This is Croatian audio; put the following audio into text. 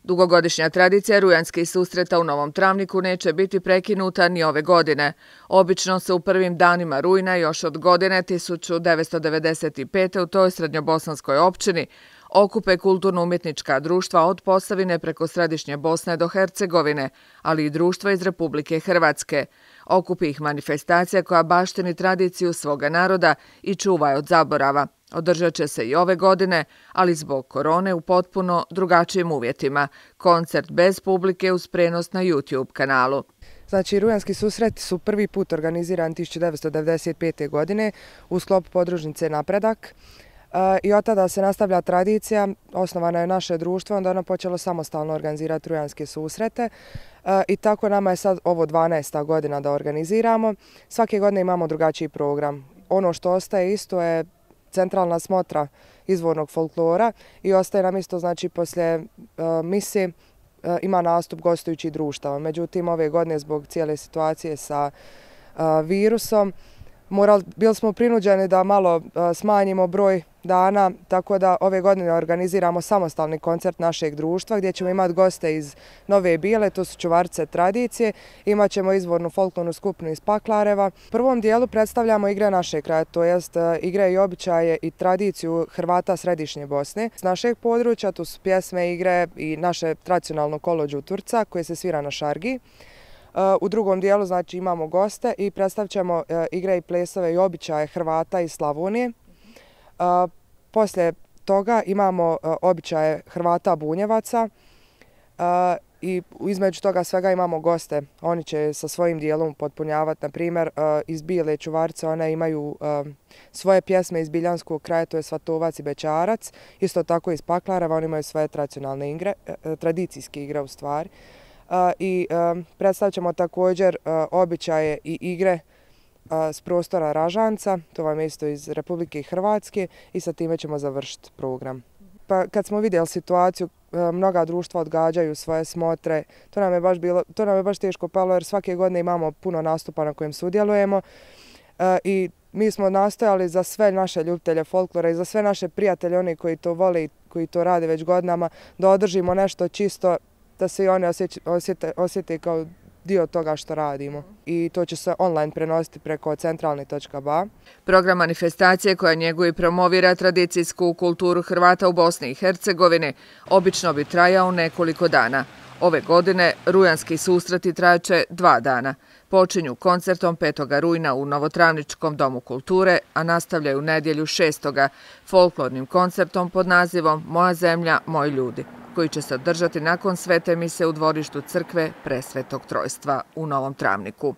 Dugogodišnja tradicija rujanskih susreta u Novom Travniku neće biti prekinuta ni ove godine. Obično se u prvim danima rujna još od godine 1995. u toj srednjobosanskoj općini okupe kulturno-umjetnička društva od Posavine preko Središnje Bosne do Hercegovine, ali i društva iz Republike Hrvatske. Okupi ih manifestacija koja baštini tradiciju svoga naroda i čuva je od zaborava. Održat će se i ove godine, ali zbog korone u potpuno drugačijim uvjetima. Koncert bez publike uz prenos na YouTube kanalu. Znači, rujanski susreti su prvi put organizirani 1995. godine u sklopu podružnice Napredak. I od tada se nastavlja tradicija, osnovano je naše društvo, onda ono počelo samostalno organizirati rujanske susrete i tako nama je sad ovo 12. godina da organiziramo. Svake godine imamo drugačiji program. Ono što ostaje isto je centralna smotra izvornog folklora i ostaje nam isto, znači, poslije mise ima nastup gostujućih društava. Međutim, ove godine zbog cijele situacije sa virusom bili smo prinuđeni da malo smanjimo broj dana, tako da ove godine organiziramo samostalni koncert našeg društva gdje ćemo imati goste iz Nove Bile, to su čuvarce tradicije, imat ćemo izvornu folklornu skupinu iz Paklareva. U prvom dijelu predstavljamo igre našeg kraja, to jest igre i običaje i tradiciju Hrvata Središnje Bosne. S našeg područja tu su pjesme, igre i naše tradicionalno kolo Đuturca koje se svira na šargi. U drugom dijelu, znači, imamo goste i predstavit ćemo igre i plesove i običaje Hrvata iz Slavonije. Poslije toga imamo običaje Hrvata Bunjevaca i između toga svega imamo goste. Oni će sa svojim dijelom potpunjavati, na primjer, iz Bile čuvarce, one imaju svoje pjesme iz Biljanskog kraja, to je Svatovac i Bećarac. Isto tako iz Paklareva, oni imaju svoje tradicionalne igre, tradicijske igre u stvari. I predstavit ćemo također običaje i igre s prostora Ražanca, to vam je isto iz Republike Hrvatske, i sa time ćemo završiti program. Pa kad smo vidjeli situaciju, mnoga društva odgađaju svoje smotre, to nam je baš teško palo jer svake godine imamo puno nastupa na kojem sudjelujemo i mi smo nastojali za sve naše ljubitelje folklora i za sve naše prijatelje, oni koji to vole i koji to rade već godinama, da održimo nešto čisto, da se i oni osjete kao dio toga što radimo. I to će se online prenositi preko centralni.ba. Program manifestacije koja njeguje i promovira tradicijsku kulturu Hrvata u Bosni i Hercegovini obično bi trajao nekoliko dana. Ove godine rujanski susreti trajaće 2 dana. Počinju koncertom 5. rujna u Novotravničkom domu kulture, a nastavljaju nedjelju 6. folklornim koncertom pod nazivom Moja zemlja, moji ljudi, koji će se održati nakon svete mise u dvorištu crkve Presvetog Trojstva u Novom Travniku.